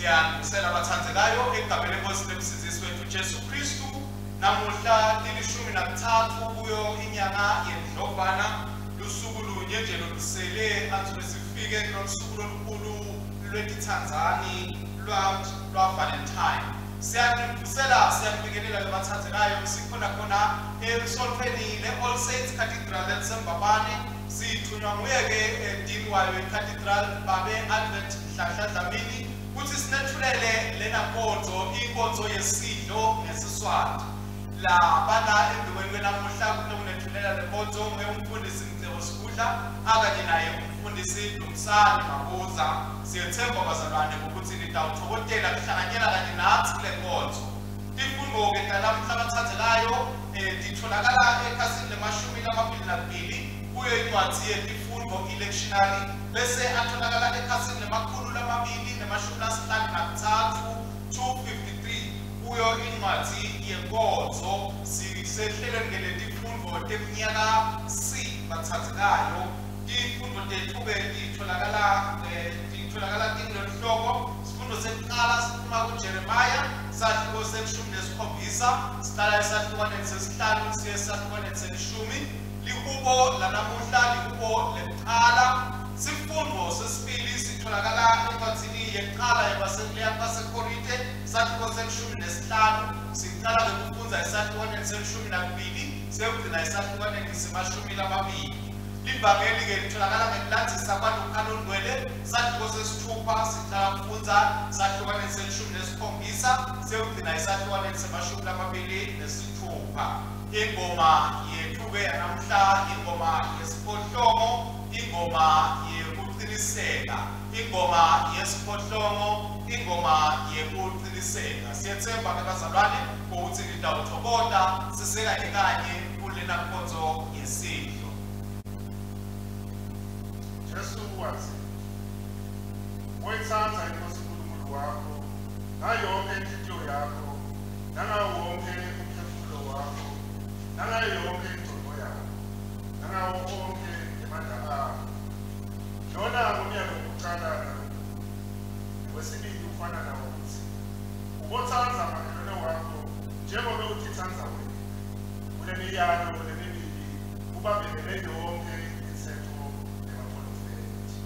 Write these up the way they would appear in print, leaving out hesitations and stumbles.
Siyanivusela abathandekayo egameni lenkosi nemsindisi wethu Jesu Kristu. Namuhla 13 kuyo inyanga yeNdlovana, lusuku lunye nje lolusele athi sifike kulolusuku lolukhulu lwetithandzani lwa Valentine. Siyanivusela, siyanibingelela abathandekayo, sikhona khona esontfweni le-All Saints Cathedral elisembabane. Sithunywa nguye-ke dean wayo i-Cathedral babe Advent Nhlanhla Dlamini kutsi sinethulele lena nkonzo, inkonzo yesidlo ngesiswati. Labana embikweni kwenamuhla kutokunethulela le nkonzo nguye umfundisi Mcebo Sigudla akanye naye umfundisi Dumsani Mabuza. Siyethemba bazalwane ukuthi nitawuthokozela kuhlanganyela kanye natsi kule nkonzo. Tifundvo-ke talamuhla abathandekayo titholakala ekhasini le-22 kuyo incwadzi yetifundvo i-lectionary, bese atholakala ekhasini le-253 253 kuyo incwadzi yenkonzo. Sisehlelweni ke letifundvo teminyaka C bathandekayo. Tifundvo tethu-ke titholakala tingulolu hlobo. Sifundo sekuqala siphuma kuJeremiah sahluko se-17, siqala esahlukwaneni sesihlanu siye esahlukaneni selishumi. Lihubo lanamuhla lihubo lekuqala. Sifundo sesibili sitholakala encwadzini yekuqala yabaseKorinte sahluko se-15, siqala ngekufundza esahlukaneni se-12 siyogcina esahlukaneni se-20. Livangeli-ke litholakala ngekulandzisa kwaLuka longcwele sahluko sesithupha, siqala kufundza sahlukaneni se-17 siyogcina esahlukaneni se-26. Ingoma yethu-ke yanamuhla ingoma yesiphohlongo, ingoma yekuqiniseka, ingoma yesiphohlongo, ingoma yekuqiniseka. Siyethemba-ke bazalwane ukuthi nitawuthokoza sisekanye kanye kulena nkonzo yesidlo. Jesu wathi, "Woyithanda iNkosi uNkulunkulu wakho ngayo yonke inhliziyo yakho, nangawo wonke umphefumulo wakho, nangayo yonke ingqondo yakho, nangawo onke emandla akho." Lona ngumyalo wokuqala nalomkhulu. Wesibili ufana nawo uthi, "Ubothanda makhelwane wakho njengoba utithanda wena." Kule miyalo lemibili kubambelele yonke imithetho nebaprofethi.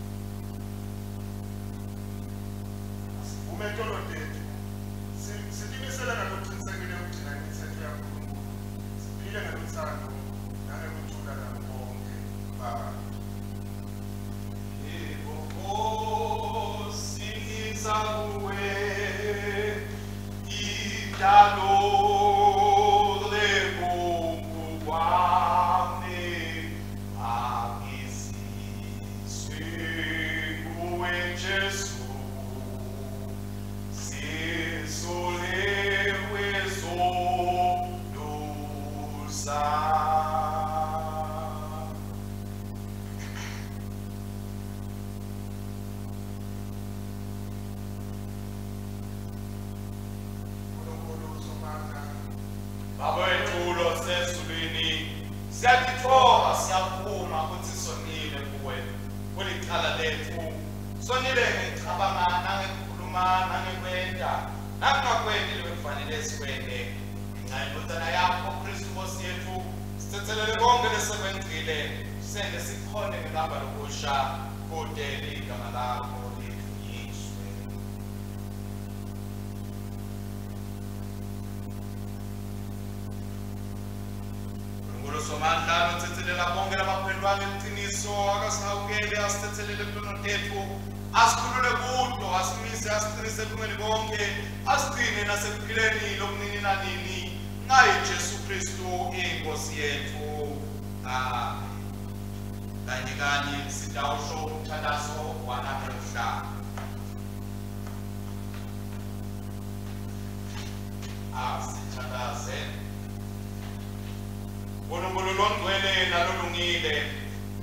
Asivume tono tethu, sitimisele ngalokuqinisekile ukugcina imithetho yaNkulunkulu, siphile ngeluthando nangekuthula nabo bonke bantu. Yebo Nkosi, ngiza kuwe, idalo lekungu kwami, angiziswe kuwe Jesu, sisulewe zono zami. Nkulunkulu Somandla, Baba wethu losezulwini, siyatithoba, siyaphuma ukuthi sonile kuwe kulicala lethu. Sonile ngekucabanga nangekukhuluma nangekwenta nakungakwenti lebekufanele sikwente. Ngenxa yendvodzana yakho Kristu Nkosi yethu, sitsetselele konke lesekwenzile, sente sikhone ngelamba lokusha kute ligama lakho lidvunyiswe. Nkulunkulu Somandla lotsetselela bonke labaphendvwa ngeliciniso, akasihawukele, asitsetselele tono tetfu, asikhulule kuto, asimise, asiqinise ebulungeni bonke, asigcine nasekuphileni lokunini nanini, ngaye Jesu Kristu inkosi yethu. Amen. Kanye kanye sitawusho umthandazo wanamuhla. Asithandaze. Nkulunkulu longcwele nalolungile,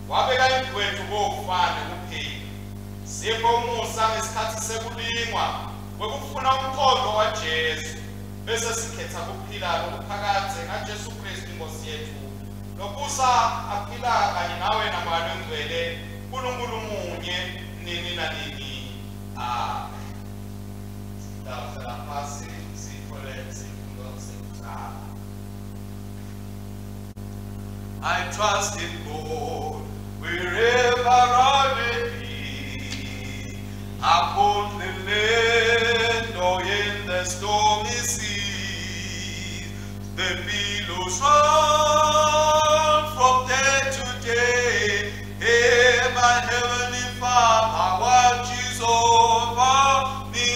wabeka indlu wethu kokufa nekuphila. Sipho umusa ngesikhatsi sekulingwa kwekufuna umqondo waJesu, bese sikhetha kuphila lokuphakadze ngaJesu Kristu Inkosi yethu, lobusa aphila kanye nawe naMoya Longcwele, Nkulunkulu munye, nini nanini. Amen. Utawuhlala phasi sithole sifundo sekucala. I trust in God wherever I may be, upon the land or in the stormy seas, the billows roll from day to day. Hey, my heavenly Father watches over me.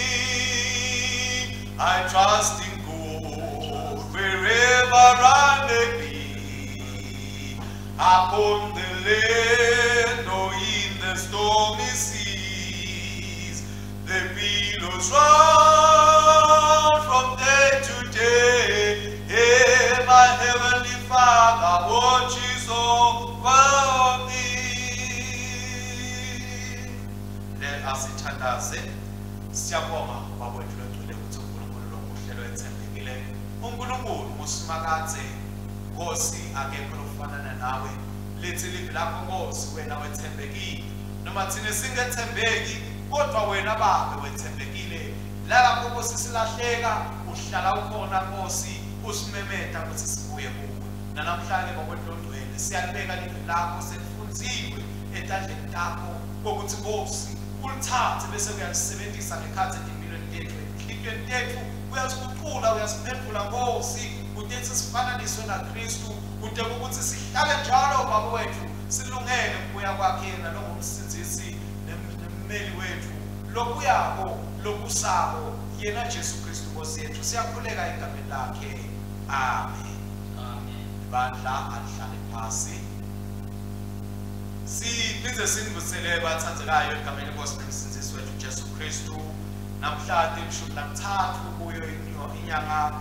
I trust in God wherever I may be, upon the land or in the stormy seas, the billows roll from day to day. Hey, my heavenly Father watches over me. Let us ithandaze. Siyabonga Baba wethu longcwele ukuthi uNkulunkulu lomuhle lothembekile. uNkulunkulu usimakadze Nkosi akekho lokufanana nawe. Lithi livi lakho Nkosi wena wethembekile. Noma thina singethembeki kodwa wena Babe wethembekile. Lapho Nkosi silahleka uhlala ukhona Nkosi usimemeta ukuthi sibuye kuwe. Namhlanje Baba wethu longcwele siyalibeka livi lakho selifundziwe etandleni takho ukuthi Nkosi ulithathe bese uyalisebenzisa ngekhathi empilweni yethu enhlitiyweni yethu uyasiguqula uyasiphendula Nkosi kuthi sifananiswe naKristu kude ukuthi sihlale njalo Baba wethu silungele ukubuya kwakhe yena longumsindzisi nemmeli wethu lokuyako lokusako yena Jesu Kristu Nkosi yethu. Siyakhuleka egameni lakhe, amen. Amen. Bandla alihlale phasi. Siphinde sinivusele bathandekayo egameni lenkosi nomsindzisi wethu Jesu Kristu. Namhlanje 13 kuyo inyanga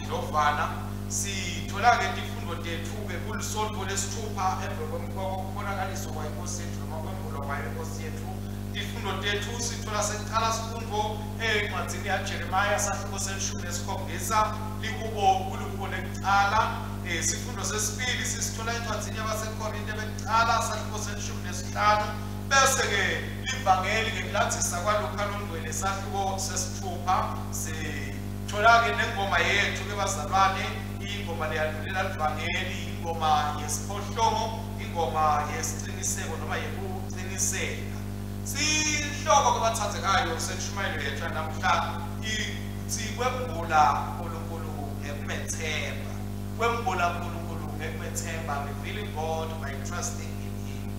Ndlovana sithola-ke tifundo tethu-ke kulisonto lesithupha emva kokubonakaliswa kwayo inkosi yethu noma kwembulwa kwayo inkosi yethu. Tifundo tethu sithola sekuqala sifundo encwadzini yaJeremiya sahluko se-17 likubo kulikubo lekucala. Sifundo sesibili sisithola encwadzini yabaseKorinte bekucala sahluko se-15 bese-ke livangeli ngekulandzisa kwaLuka longcwele sahluko sesithupha. Sithola-ke nengoma yethu-ke bazalwane, ingoma leyandulela livangeli, ingoma yesiphohlongo, ingoma yesiqiniseko noma yekuqiniseka. Sihloko ke bathandekayo sentshumayelo yethu namhla ithi kwembula uNkulunkulu ngekumethemba. Kwembula uNkulunkulu ngekumethemba, revealing God by trusting in him.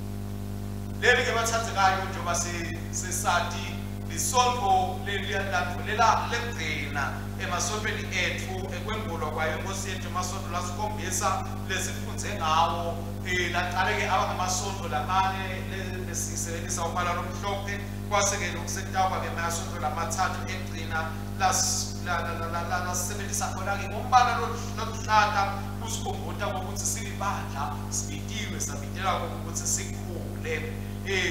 Leli ke bathandekayo njengoba sesati lisonto lelilandvulela lekugcina emasontweni ethu ekwembulwa kwayo inkosi yethu, emasonto lasikhombisa lesifundze ngawo. Laqale-ke abangamasonto lamane lesisebenzisa umbala lomhlophe, kwase-ke lokusetawuba-ke emasonto lamathathu egcina lasebenzisa khona-ke ngombala loluhlata kusikhumbuta kokuthi silibandla sibitiwe sabitelwa kokuthi sikhule.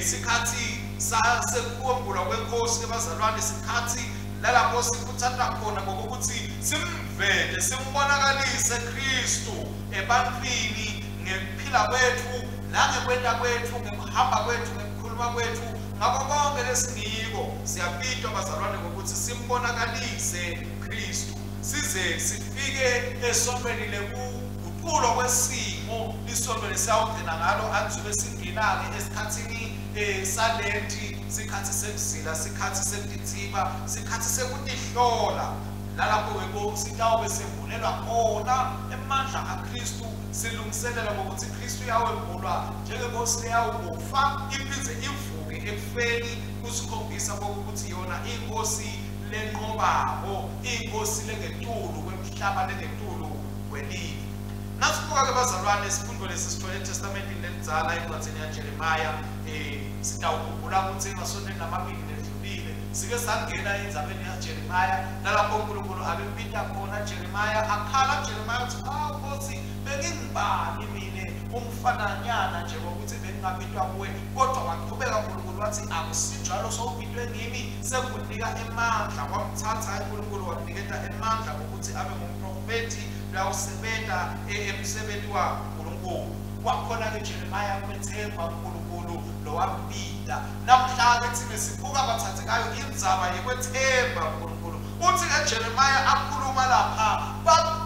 Sikhathi sekumbulwa kwenkosi ke bazalwane, sikhathi lalapho sikuthatha khona ngokuthi simvele simbonakalise Kristu ebantwini ngekuphila kwethu nangekwenta kwethu ngekuhamba kwethu ngekukhuluma kwethu ngakho konke lesingiko. Siyabitwa bazalwane ngokuthi simbonakalise Kristu size sifike esontweni lekuguqulwa kwesimo, lisonto lesiyawugcina ngalo anzube singena-ke esikhathini salenti, sikhathi sekuzila, sikhathi sekutithiba, sikhathi sekutihlola. Lalapho-ke sitawube sembulelwa khona emandla aKristu, silungiselela ngokuthi Kristu uyawembulwa njengenkosi leyawukufa iphindze ivuke ekufeni, kusikhombisa kokuthi yona inkosi lenqobako, inkosi lengetulu kwemhlaba, lengetulu kwelive. Nasibuka-ke bazalwane isifundo lesi sithole eTestamentini lelidzala encwadzini yaJeremiya. Sitawukhumbula ukuthi emasontweni lamabili ledlulile sike sangena endzabeni yaJeremiya nalapho uNkulunkulu abembita khona Jeremiya, akhala Jeremiya uthi awu Nkosi bengingubani mina umfananyana nje ngokuthi bengingabitwa kuwe, kodwa waqhubeka uNkulunkulu wathi akusinjalo, sowubitwe ngimi sekunika emandla. Wamthatha uNkulunkulu wamniketa emandla ngokuthi abe ngumprofethi lawusebenta emsebenzi waNkulunkulu. Wakhona-ke Jeremiah kwethemba uNkulunkulu lowambita. Namhla-ke thina sibuka bathathekayo indzaba yekwethemba uNkulunkulu. Uthi-ke Jeremiah akhuluma lapha,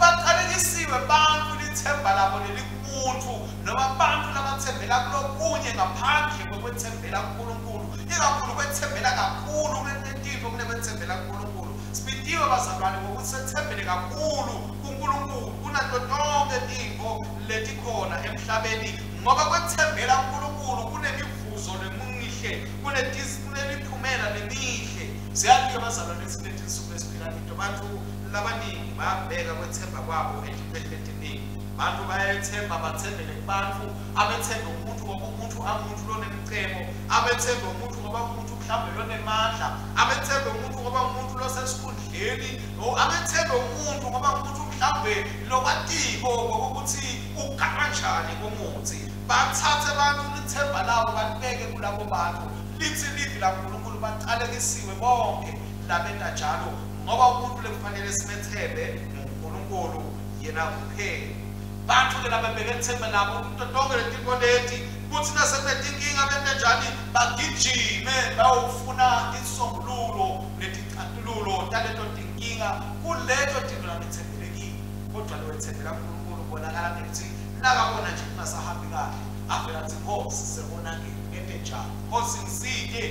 baqalekisiwe bantu lithemba labo lelikumuntu noma bantu labathembela kulokunye ngaphandle kokwethembela kuNkulunkulu, ikakhulu kwethembela kakhulu kuletintfo kunekwethembela kuNkulunkulu. Sibitiwe bazalwane ngokuthi sethembele kakhulu kuNkulunkulu kunato tonke tintfo letikhona emhlabeni, ngoba kwethembela kuNkulunkulu kunemivuzo lemihle, kunemiphumela lemihle. Siyazi-ke bazalwane kuletinsuku esiphila kito, bantu labaningi bayabheka kwethemba kwabo etintfweni letiningi. Bantu bayethemba, bathembele kubantu, abethembe umuntu ngoba umuntu amuntu lonemcebo, abethembe umuntu ngoba umuntu mhlawumbe lonemandla, abethembe umuntu ngoba umuntu losesikhundleni, abethembe umuntu ngoba umuntu mhlawumbe lokwatiko ngokuthi ugakanjani kumuthi. Bathathe abantu lithemba labo balibeke kulabo bantu. Lithi livi laNkulunkulu baqalekisiwe bonke labenta njalo, ngoba umuntu lekufanele simethembe nguNkulunkulu yena kuphela. Bantu-ke lababeke lithemba labo kuto tonke letintfo leti, kutsi nasekunetinkinga bente njani? Bagijime bayofuna insombululo neticatululo taleto tinkinga kuleto tintfo labetsembelekile. Kodwa lowetsembela kuNkulunkulu kubonakala ngekutsi nakabona nje kungasahambi kahle, avele atsi, Nkosi, sebonakele, ngente njani? Nkosi ngisite,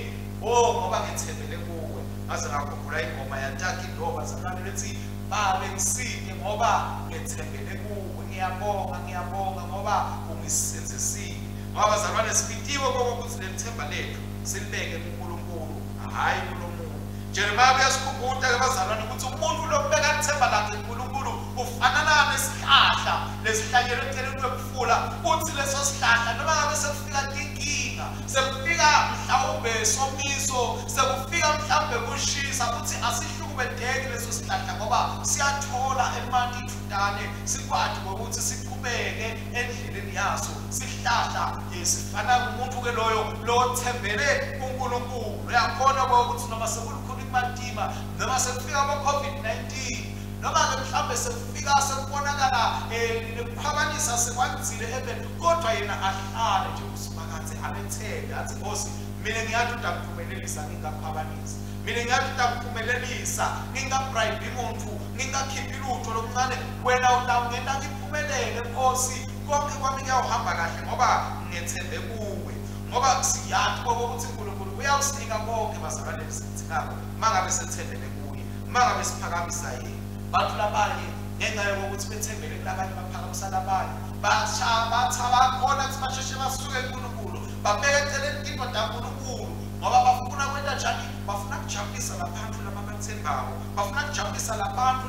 oh ngoba ngetsembele kuwe. Ngaze ngakhumbula ingoma yaTaki Ndo bazalwane lethi, Babe ngisite ngoba ngetsembele kuwe, ngiyabonga, ngiyabonga ngoba ungisindzisile. Ngoba bazalwane sibitiwe kokuthi lelithemba lethu silibeke kuNkulunkulu, hhayi kulo muntu. Jeremiah uyasikhumbuta-ke bazalwane ukuthi umuntu lokubeka lithemba lakhe kuNkulunkulu ufanana nesihlahla lesihlanyelwe eceleni kwemfula. Uthi leso sihlahla noma ngabe sekufika tinkinga, sekufika mhlawumbe somiso, sekufika mhlawumbe kushisa, uthi asihlukubedeki leso sihlahla ngoba siyathola emanti ithutane, sikwati ngokuthi siqhubeke endleleni yaso. Sihlahla sifana ngumuntu-ke loyo lothembele kuNkulunkulu. Uyakhona ukuthi noma sekulukhuni kumatima, noma sekufika bo-COVID-19, noma-ke mhlawumbe sekufika sekubonakala nekukhwabanisa sekwandzile ebeni, kodwa yena ahlale nje uSimakadze amethembe, athi Nkosi, mina ngiyathi utakuphumelelisa ngingakhwabanisi, mina ngiyathi utakuphumelelisa ngingabribe muntu, ngingakhiphi lutho lokuncane, wena utawungena ngiphumelele Nkosi, konke kwami kuyawuhamba kahle ngoba ngethembe kuwe. Ngoba siyazi ukuthi uNkulunkulu uyawusinika konke bazalwane lesikudingako mangabe sethembele kuye, mangabe siphakamisa yena. Bantu labanye ngenxa yokuthi bethembele kulabanye baphakamisa labanye, bakhona ukuthi basheshe basuke kuNkulunkulu, babeke eceleni tintfo taNkulunkulu ngoba bafuna kwenta njani? Bafuna kujabulisa labantu lababathembako, bafuna kujabulisa labantu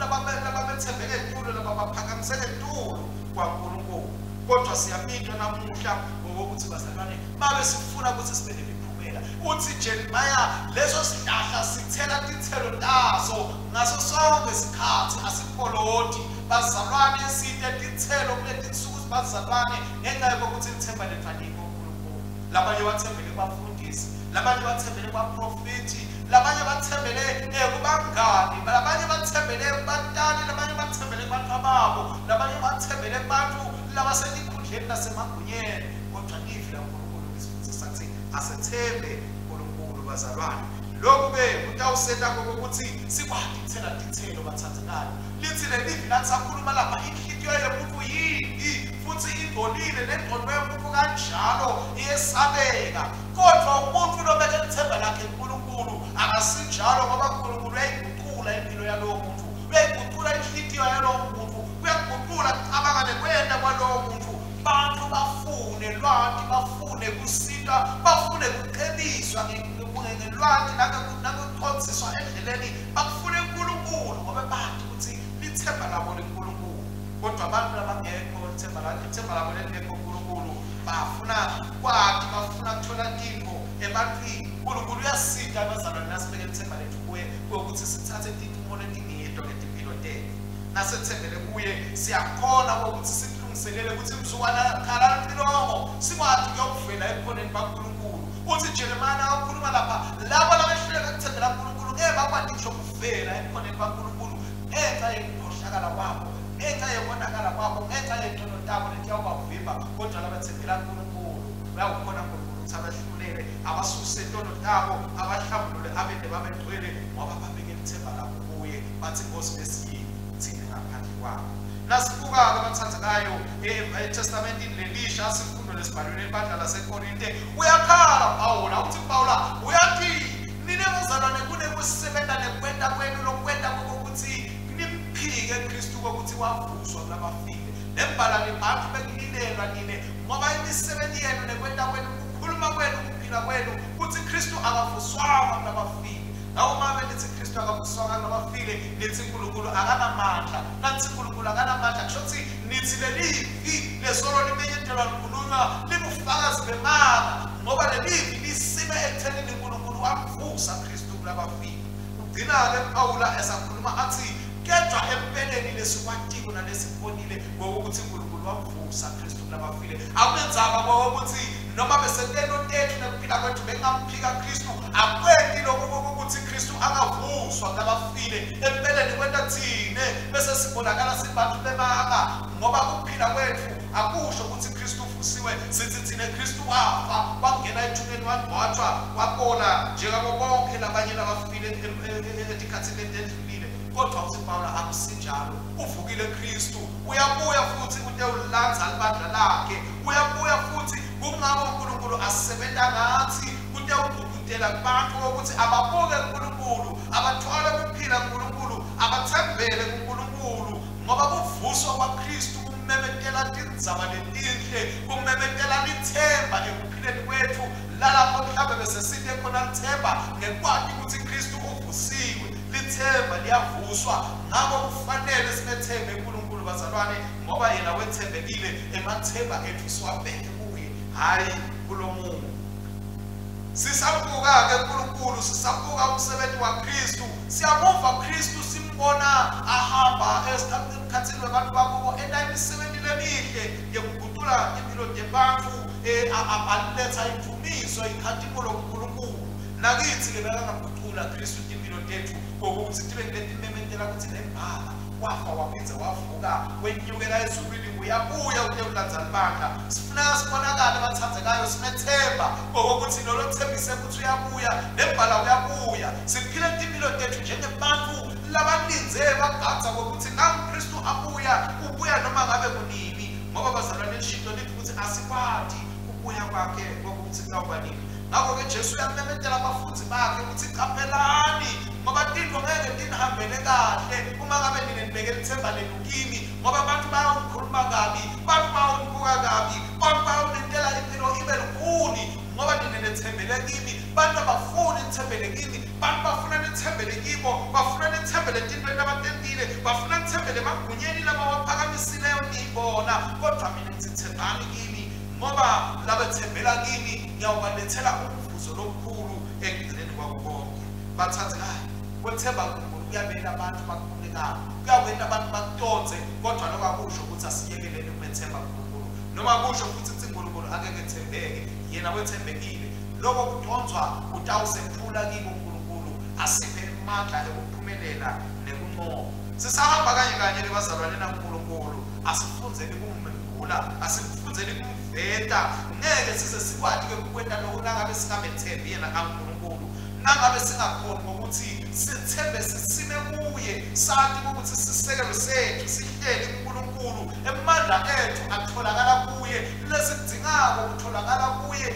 lababethembeke etulu, lababaphakamisele etulu kwaNkulunkulu. Kodwa siyabitwa namuhla ngokuthi bazalwane mabe sifuna ukuthi sibe nemiphumela. Uthi Jeremiah leso sihlahla sithela tithelo taso ngaso sonke isikhathi, asikholoti. Bazalwane sithe tithelo kuletinsuku bazalwane ngenxa yokuthi lithemba lethu alikho kuNkulunkulu. Labanye bathembele kubafundisi, labanye bathembele kubaprofethi, labanye bathembele kubangani, labanye bathembele kubatali, labanye bathembele kubantu babo, labanye bathembele kubantu labasetikhundleni nasemagunyeni. Kodwa livi laNkulunkulu lisifundisa ukuthi asethembe uNkulunkulu bazalwane. Lokhu-ke kutawusenta kokuthi sikwati kuthela tithelo bathandekayo. Lithi lelivi lathi sakhuluma lapha, inhliziyo yomuntu yimbi futhi ingcolile, nengqondo yomuntu kanjalo iyesabeka. Kodwa umuntu lobeke lithemba lakhe kuNkulunkulu akasinjalo, ngoba uNkulunkulu uyayiguqula impilo yalowo muntu, uyayiguqula inhliziyo yalowo muntu, uyaguqula kucabanga nekwenta kwalowo muntu. Bantu bafune lwati, bafune kusita, bafune kucebiswa ngelwati nangokuqondiswa endleleni, bafune uNkulunkulu ngoba bathi ukuthi lithemba labo leNkulunkulu. Kodwa abantu labangekho ithemba labo lelingekho uNkulunkulu, bafuna kwati, bafuna kuthola tintfo ebantwini. uNkulunkulu uyasita abazalwane nasibeke lithemba lethu kuye ukuthi sithathe tincumo letingedwa ngetimpilo tethu. Nasethembele kuye siyakhona ukuthi sikulungiselele ukuthi mzukwana khala licilongo sikwati kuyokuvela ebukhoneni baNkulunkulu. Uthi Jeremiah nakakhuluma lapha, labo labehluleka kuthembela kuNkulunkulu ngeke bakwati ngisho kuvela ebukhoneni baNkulunkulu ngenxa yekukhohlakala kwabo. ngenxa yokonakala kwabo, ngenxa yetono tabo letiyawubavimba, kodwa labathembela kuNkulunkulu bayawukhona uNkulunkulu ukuthi abahlulele, abasuse tono tabo, abahlambulule, abende babegcwele, ngoba babeke ithemba labo kuye, bathi Nkosi besiyini thina ngaphandle kwakho. Nasibuka-ke abathandekayo eTestamentini lelisha, sifundo lesibhalweni ebandla laseKorinte, uyakhala Pawula, uthi Pawula uyathi nine bazalwane kunekusebenza nekwenta kwenu lokwenta kokuthi nimphike Kristu kokuthi wavuswa kulabafile. Nembala nibantu bekulilelwa nine, ngoba imisebenzi yenu nekwenta kwenu, kukhuluma kwenu, kuphila kwenu kuthi Kristu akavuswanga kulabafile. Ngakho uma nithi Kristu akavuswanga kulabafile, nithi uNkulunkulu akanamandla. Nathi uNkulunkulu akanamandla, kusho ukuthi nithi lelivi lesolo limenyezelwa likhulunywa libufakazi bemanga, ngoba lelivi lisime ekuthenini uNkulunkulu wamvusa Kristu kulabafile. Ugcina-ke Pawula esakhuluma athi kedwa empeleni lesikwatiko nalesibonile ngokuthi uNkulunkulu wamvusa Kristu kulabafile. Akunenzaba ngokuthi noma besentelo tethu nekuphila kwethu bengamphika Kristu, akwenti lokhu ukuthi Kristu angavuswa kulabafile. Empeleni kwenta thine bese sibonakala sibantu bemanga, ngoba ukuphila kwethu akusho ukuthi Kristu uvusiwe. Sithi thine Kristu wafa, wangena ethuneni, wangcwatshwa, wabola njengabo bonke labanye labafile etikhathini letedlulile. Kodwa uthi Pawula akusinjalo, uvukile Kristu, uyabuya futhi utewulandza libandla lakhe, uyabuya futhi. Kungako uNkulunkulu asebenza ngathi kutewugqugqutela kubantu ukuthi ababuke uNkulunkulu, abathwale ukuphila kuNkulunkulu, abathembele kuNkulunkulu, ngoba kuvuswa kwaKristu kumemetela tindzaba letinhle, kumemetela lithemba ekuphileni kwethu. Lalapho mhlawumbe besesite khona lithemba ngekwati ukuthi Kristu uvusiwe, lithemba liyavuswa. Ngakho kufanele simethembe uNkulunkulu bazalwane, ngoba yena wethembekile, emathemba ethu siwabheke kuye, hhayi kulo muntu. Sisabuka-ke uNkulunkulu, sisabuka umsebenzi waKristu, siyamuva Kristu, simbona ahamba emkhathini wabantu bakubo, enta imisebenzi lemihle yekuguqula impilo tebantfu, aletha indumiso, inkhatimulo kuNkulunkulu. Nakithi-ke bekangaguqula Kristu timpilo tethu ngokuthi tibe ngiletimemetela ukuthi nembala wafa waphindze wavuka, wenyukela ezulwini, uyabuya utewulandza libandla. Sifuna sibonakale bathandekayo, simethemba ngokuthi lolo thembise ukuthi uyabuya, nembala uyabuya. Siphile timpilo tethu njengebantu labalindze bagadza ngokuthi nangu Kristu abuya, ubuya noma ngabe kunini, ngoba bazalwane lishinto lithi ukuthi asikwati kubuya kwakhe ngokuthi kuyawuba nini. Ngakho-ke Jesu uyamemetela abafundi bakhe ukuthi qaphelani, ngoba tinto ngeke tinihambele kahle uma ngabe nine nibeke lithemba lenu kimi, ngoba abantu bayawunikhuluma kabi, bantu bayawunibuka kabi, bantu bayawunentela impilo ibe lukhuni, ngoba nine nethembele kimi. Bantu abafuni nithembele kimi, bantu bafuna nithembele kibo, bafuna nithembele tintweni labatentile, bafuna nithembele emagunyeni labawaphakamisileyo niyibona. Kodwa mina ngithi thembani kimi, ngoba labethembela kimi ngiyawubalethela umvuzo lomkhulu ekugcineni kwako konke. Bathandekayo, kwethemba uNkulunkulu kuyabela abantu bakubuke kabi, kuyawenta abantu bakutotse, kodwa lokho akusho ukuthi asiyekelele ukumethemba uNkulunkulu, noma kusho futhi ukuthi uNkulunkulu angeke ethembeke. Yena wethembekile. Lokho kudonswa kutawusephula kibo uNkulunkulu, asiphe amandla ekuphumelela nekunqoba. Sisahamba kanye kanye lebazalwane naNkulunkulu, asifundzeni kumembula, asifundzeni kumveta. Ngeke size sikwati-ke kukwenta lokho nangabe singamethembi yena kaNkulunkulu, nangabe singakhoni ngokuthi sithembe sisime kuye, sathi ukuthi sisekelo sethu sihleli kuNkulunkulu, emandla ethu atholakala kuye, lesikudingako kutholakala kuye,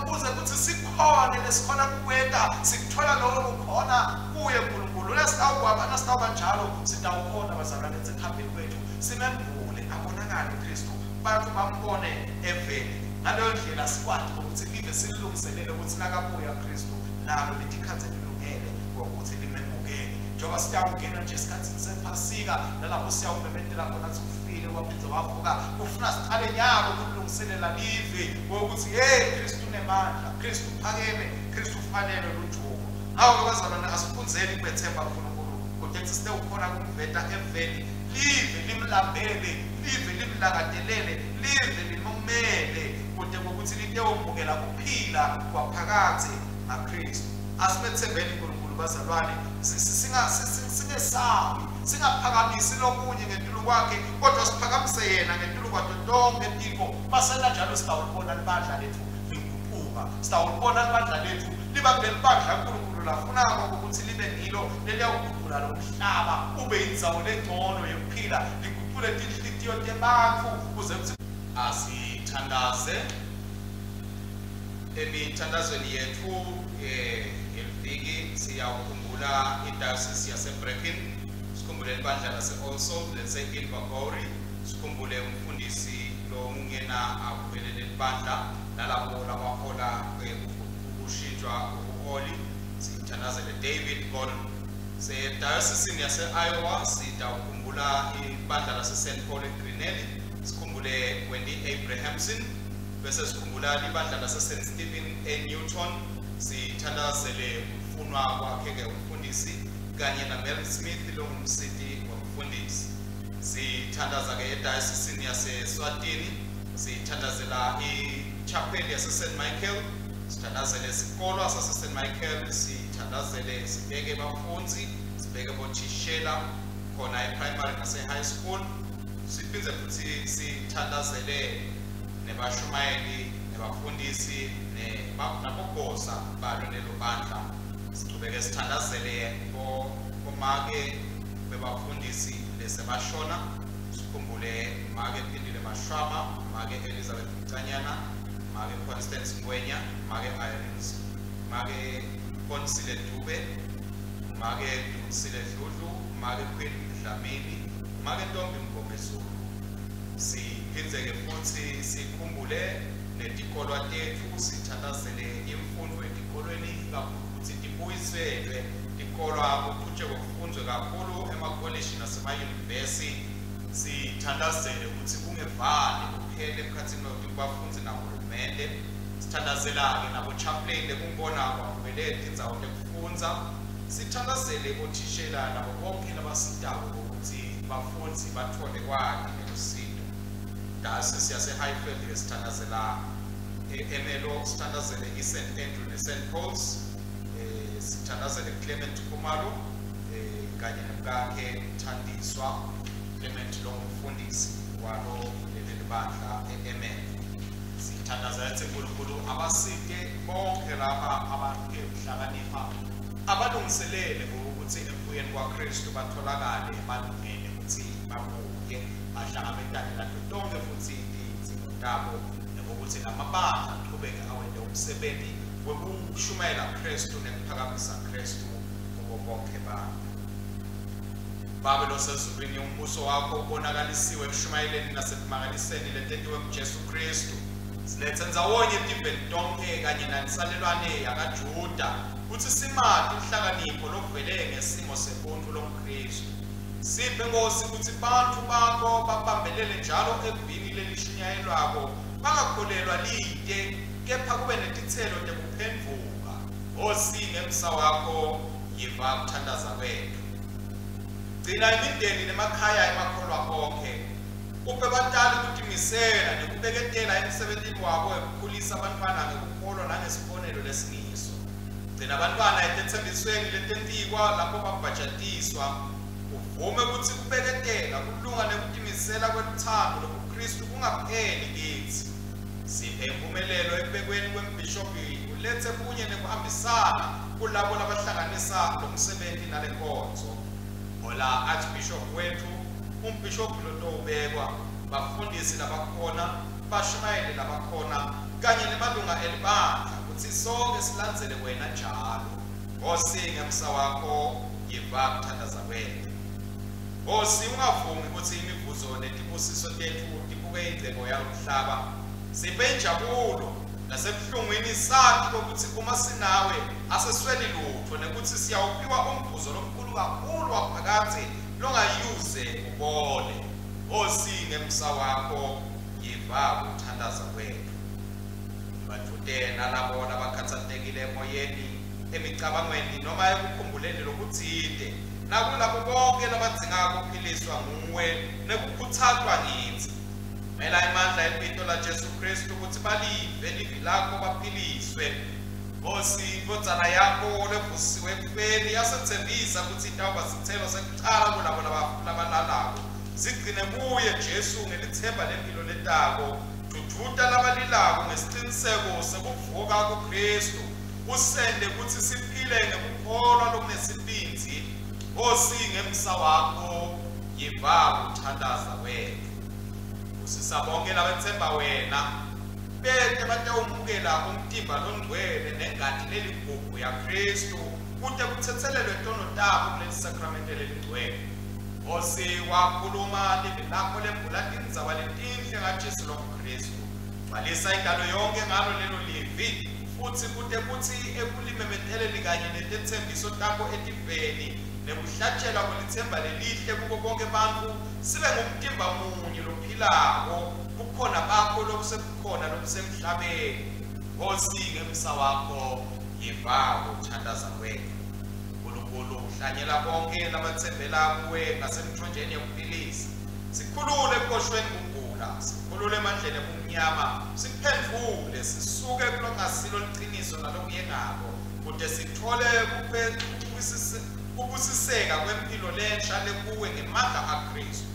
kuze ukuthi sikhone lesikhona kukwenta, sikuthola lokho kukhona kuye uNkulunkulu. Lesitawukwaba nasitawuba njalo, sitawukhona bazalwane ekuhambeni kwethu, simembule abonakale Kristu, bantu bambone eveni. Ngaleyo ndlela sikwati ukuthi live sililungiselele ukuthi nakabuya Kristu nalo letikhathi elilungele ngokuthi limemukele. Njengoba siyawungena nje esikhathini sephasika, nalapho siyawumemetela khona ukuthi ufile waphindze wavuka, kufuna siqale nyalo ukulungiselela live ngokuthi hey, Kristu unemandla, Kristu uphakeme, Kristu ufanele lujuko. Ngakho-ke bazalwane, asifundzeni ukumethemba uNkulunkulu kude kuthi sitewukhona kumveta eveni, live limlambele, live limlangatelele, live limumele, kude ngokuthi litewumukela kuphila kwaphakadze ngaKristu. Asimethembeni uNkulunkulu bazalwane, singesabi. Singaphakamisi lokunye ngetulu kwakhe, kodwa siphakamise yena ngetulu kwato tonke tintfo. Masenta njalo sitawulibona libandla letfu liguquka, sitawulibona libandla letfu liba kulelibandla uNkulunkulu lafunako ukuthi libe ngilo leliyawuguqula lo mhlaba ube indzawo lengcono yekuphila, liguqule tinhlitiyo tebantfu kuze kutsi asithandaze. Emithandazweni yetfu ngeliviki siyawukhumbula iDiocese yaseBreckin, sikhumbule libandla lase-All Souls lase-Invergowrie, sikhumbule umfundisi longena akubelele libandla nalabo labahola ukushintshwa kobuholi, sithandazele David Gordon. Se-Diocese yase-Iowa sitawukhumbula ibandla lase-St. Paul eGrinnell, sikhumbule Wendy Abrahamson, bese sikhumbula libandla lase-St. Stephen eNewton, sithandazele ukufunwa kwakhe-ke umfundisi kanye na-Mel Smith longumsiti womfundisi. Sithandaza-ke eDiocese yaseSwatini, sithandazela i-chapel yase-St. Michael, sithandazele isikolwa sase-St. Michael, sithandazele sibeke bafundzi, sibeke bothishela khona e-primary nase-high school, siphindze futhi sithandazele nebashumayeli nebafundisi nabogosa balo lelo bandla. Sichubeke sithandazele bomake bebafundisi lesebashona, sikhumbule make Phindile Mashwama, make Elizabeth Mcanyana, make Constance Ngwenya, make Irene, make Consile Dube, make Dumsile Dludlu, make Queen Dlamini, make Ntombi Mngomezulu. Siphindze-ke futhi sikhumbule netikolwa tetfu, sithandazele imfundvo etikolweni, ikakhulu kutsi tibuyiselwe tikolwa kuchutjekwe kufundzwe kakhulu emakolishi nasemayunivesi. Sithandazele kutsi kungevani kuphele emkhatsini webafundzi nahulumende. Sithandazela-ke nabo-chaplain lekungibona kwavele tindzawo tekufundza. Sithandazele bothishela nabo bonke labasitako ukuthi bafundzi bathole kwati nelusito. Diocese yase-Highfield sithandazela eMelo, sithandazele i-St. Andrew ne-St. Paul's, sithandazele Clement Khumalo kanye nemkakhe Thandiswa Clement longumfundisi walo leli bandla e-Emelo. Sithandazela ukuthi uNkulunkulu abasite bonke laba abaphe ukuhlakanipha, abalungiselele ukuthi ekubuyeni kwaKristu batholakale balungele ukuthi babuye bahlangabetane nato tonke futhi tidzingo tabo, nokuthi lamabandla aqhubeke awente umsebenzi wekushumayela Kristu nekuphakamisa Kristu kubo bonke bantu. Babe losezulwini, umbuso wakho ubonakalisiwe ekushumayeleni nasekumangaliseni letentiwe nguJesu Kristu. Silethe ndzawonye etiveni tonke kanye nansalelwane yakaJuda kutsi simati inhlakanipho lokuvele ngesimo sebuntfu lomKristu. Siphe Nkosi kutsi bantfu bakho babambelele njalo evini lelishunyayelwako, bangakholelwa lite, kepha kube netitselo tekuphendvuka. Nkosi, ngemsa wakho yiva kuthandaza kwetfu. Gcina imindeni nemakhaya emakholwa onkhe. Uphe batali kutimisela nekubeketela emsebentini wabo wekukhulisa abantwana ngekukholwa nangesibonelo lesingiso. Gcina abantwana etetsembisweni letentikwa lapho babhajatiswa. Uvume kutsi kubeketela, kulunga nekutimisela kweluthando lobuKristu kungapheli kitsi. Siphe impumelelo ekubekweni kwembhishobhi, ulethe bunye nekuhambisana kulabo labahlanganisa lo msebenzi nale nkonzo. Hola Archbishop wethu, umbhishobhi lotowubekwa, bafundisi labakhona, bashumayeli labakhona, kanye nemalunga elibandla kutsi sonke silandzele wena njalo. Nkosi, ngemsa wakho yiva kuthandaza kwetfu. Nkosi, ungavumi kutsi imivuzo netibusiso tetfu tibuke ingcebo yalomhlaba. Siphe injabulo nasebuhlungwini sati kwekutsi uma sinawe asesweli lutfo, nekutsi siyawuphiwa umvuzo lomkhulu kakhulu waphakadze longayuze ubone. Nkosi, ngemsa wakho yiva kuthandaza kwetfu. Badvute nalabo labakhatsatekile emoyeni, emicabangweni noma ekukhumbuleni lokutsite, nakulabo bonke labadzinga kuphiliswa nguwe nekukhutsatwa ngitsi. Mela emandla ebito la Jesu Kristu kutsi balive livi lakho baphiliswe. Nkosi, indvodzana yakho levusiwe ekufeni yasetsembisa kutsi itawuba sitselo sekucala kulabo labalalako. Sigcine kuye Jesu ngelithemba lempilo letako. Dvudvuta labalilako ngesiciniseko sekuvuka kuKristu. Usende kutsi siphile ngekukholwa lokunesibindzi. Nkosi, ngemsa wakho yiva kuthandaza kwetfu. Busisa bonke labetsemba wena, bete batewumukela umtimba longcwele nengati leligugu yaKristu kute kutsetselelwe tono tabo kuleli sakramente lelingcwele. Nkosi, wakhuluma livi lakho lembula tindzaba letinhle ngaJesu longuKristu. Gcwalisa indalo yonke ngalo lelo livi, futsi kute kutsi ekulimemeteleni kanye netetsembiso takho etiveni nekuhlatshelwa kwelitsemba lelihle kubo bonke bantfu sibe ngumtimba munye lophilako, bukhona bakho lobusebukhona lobusemhlabeni. Nkosi, ngemsa wakho yiva kuthandaza kwetfu. Nkulunkulu, uhlanyela bonke labatsembela kuwe ngasemthonjeni yekuphilisa. Sikhulule ekuboshweni kugula, sikhulule emandleni ebumnyama, siphendvule sisuke kulokungasilo liciniso nalokuyengako, kute sitfole kubusiseka kwemphilo lensha lekuwe ngemandla aKristu.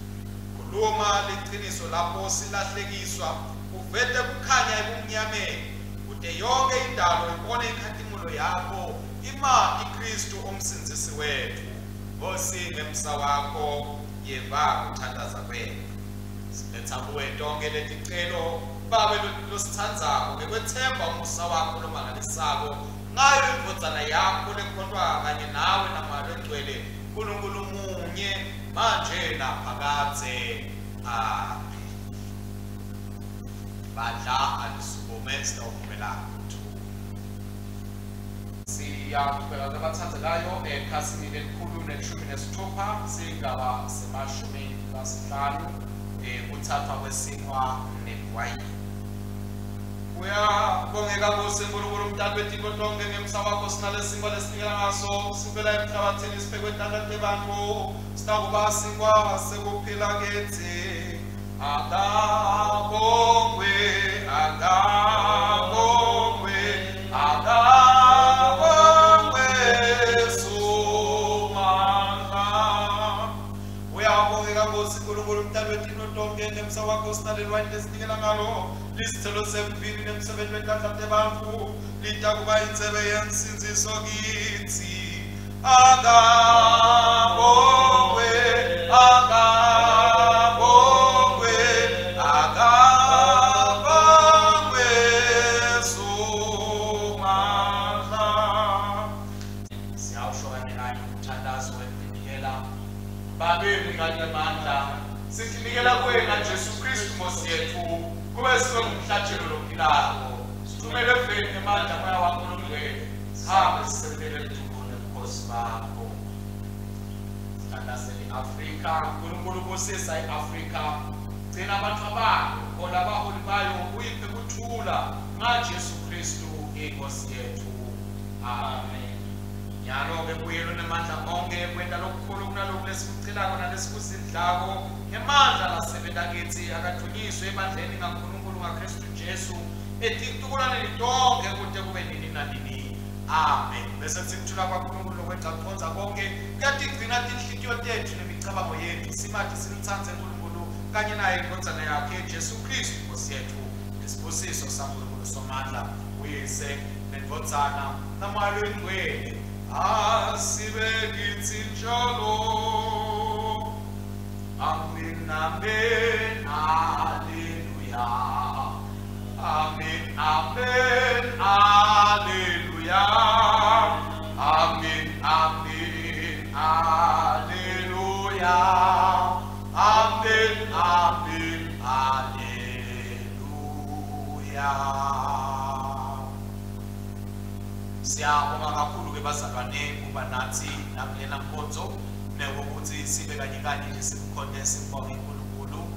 Khuluma liciniso lapho silahlekiswa, uvete kukhanya ebumnyameni, kute yonke indalo ibone inkhatimulo yakho, imati Kristu umsindzisi wetfu. Nkosi, ngemsa wakho yeva kuthandaza kwetfu. Siletha kuwe tonke leticelo, Babe lositsandzako, ngekwetsemba umusa wakho lomangalisako, ngayo indvodzana yakho lekhontwa kanye nawe naMoya Longcwele, Nkulunkulu munye, manje naphakadze. Amen. Bandla alisukume sitawuvumela kuthula. Siyaqhubeka labathandzekayo ekhasini 116 sigaba se-50 kuthathwa kwesinkwa neliwayini. Uyabongeka Nkosi Nkulunkulu umdali wetintfo tonke, ngemsa wakho sinalesinkwa lesinikela ngaso sivela emhlabathini siphekwe tandla tebantfu, sitakuba sinkwa sekuphila kitsi. Akabongwe, akabongwe, akabongwe Somandla. Uyabongeka Nkosi Nkulunkulu umdali wetintfo tonke, ngemsa wakho sinaleliwayini lesinikela ngalo lisithelo semvini nemsebenzi wetandla tebantfu, litakuba intsebe yensindziso kitsi. Akabongwe, akabongwe, akabongwe Somandla. Siyawusho kanye kanye umthandazo wekunikela. Babe mnikati wemandla, sitinikela kuwe ngaJesu Kristu Nkosi yetfu, kube sibe ngumhlatshelo lophilako. Sithumele eveni ngemandla Moya wakho longcwele, sihambe sisebentele ludumo nebukhosi bakho. Sithandazele i-Afrika. Nkulunkulu busisa i-Afrika, gcina abantu bayo, hola abaholi bayo, uyiphe kuthula ngaJesu Kristu inkosi yetfu. Amen. Nyalo-ke kuye lonemandla onke kwenta lokukhulu kunaloku lesikucelako nalesikusidlako, ngemandla lasebenta kitsi, akadvunyiswe ebandleni ngaNkulunkulu ngaKristu Jesu etitukulwaneni tonke kute kube nini nanini. Amen. Bese sikuthula kwaNkulunkulu lokwengca kucondza konke kuyatigcina tinhlitiyo tetfu nemicabango yetfu, simati simtsandze Nkulunkulu kanye naye indvodzana yakhe Jesu Kristu Nkosi yetfu. Nesibusiso saNkulunkulu Somandla, uYise nendvodzana naMoya Longcwele, asibe kitsi njalo. Amen, amen, haleluya. Amen, amen, haleluya. Amen, amen, haleluya. Amen, amen, haleluya. Siyabonga kakhulu ke bazalwane kuba nathi nakulena nkonzo, nekuthi sibe kanye kanye nje simkhonte simbonge uNkulunkulu.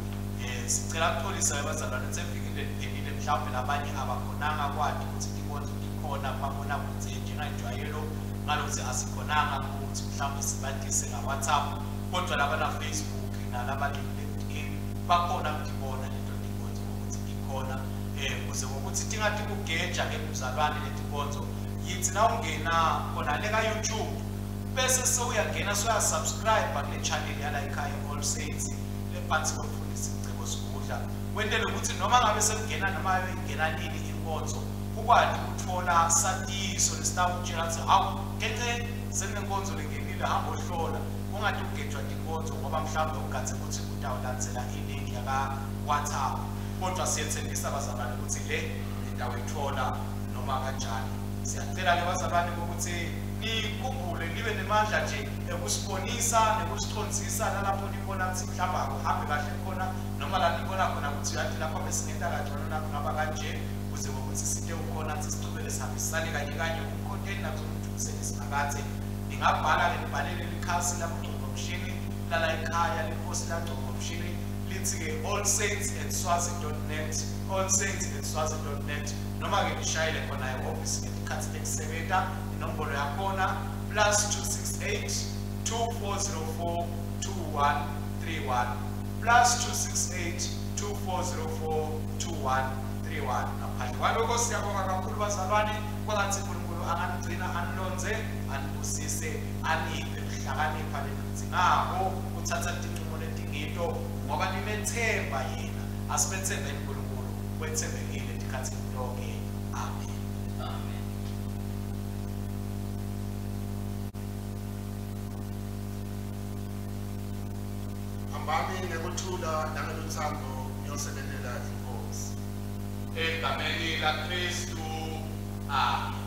Sicela kuxolisa bazalwane sevikini leliphelile, mhlawumbe labanye abakhonanga kwati ukuthi tinkonzo tikhona kumabonakudze njengenjwayelo, ngalokuthi asikhonanga ukuthi mhlawumbe sibatise nga-WhatsApp, kodwa laba na Facebook nalaba LinkedIn bakhona kutibona leto tinkonzo ukuthi tikhona, kuze ngokuthi tingathi kugeja ke mzalwane letinkonzo. Yithi nawungena khona le ka-YouTube, bese sewuyangena soya-subscribe kule channel yala ekhaya All Saints lephansi komfundisi Mcebo Sigudla, wentele ukuthi noma ngabe sekungena noma ingena nini inkonzo ukwati ukuthola satiso lesitawukutshela ukuthi hawu kence sekunenkonzo lengenile, hamba ohlola, ungathi ugejwa tinkonzo ngoba mhlawumbe ugadze ukuthi utawulandzela ilink yaka-WhatsApp. Kodwa siyethembisa bazalwane ukuthi le nitawuyithola noma kanjani. Siyacela-ke bazalwane ukuthi nikhumbule nibe nemandla nje ekusibonisa nekusicondzisa nalapho nibona ukuthi mhlawumbe akuhambe kahle khona, noma la nibona khona ukuthi uyathi lapha besingenta kangcono nakungaba kanje, kuze ngokuthi site ukhona ukuthi sichubeke sihambisane kanye kanye umkhonteni nakuzokuthuseni simakathe. Ningabhala-ke nibhalele likhasi lakugcobomshini lala ekhaya lenkosi lagcobomshini lithi-ke allsaints@swazi.net, allsaints@swazi.net, noma-ke nishayele khona ehhovisi ngetikhathi tekusebenta. Inombolo yakhona +268 2404 2131, +268 2404 2131. Ngaphandle kwalokho siyabonga kakhulu bazalwane, kwangathi uNkulunkulu anganigcina, anilonze, anibusise, aniphe kuhlakanipha lenikudzingako kuthatha tincumo letingito ngoba nimethemba yena. Asibethembe uNkulunkulu, wethembekile tikhathini tonke. Amen. Amen. Hambani ngekuthula nangeluthando niyosebenzela inkosi. Egameni laKristu. Amen.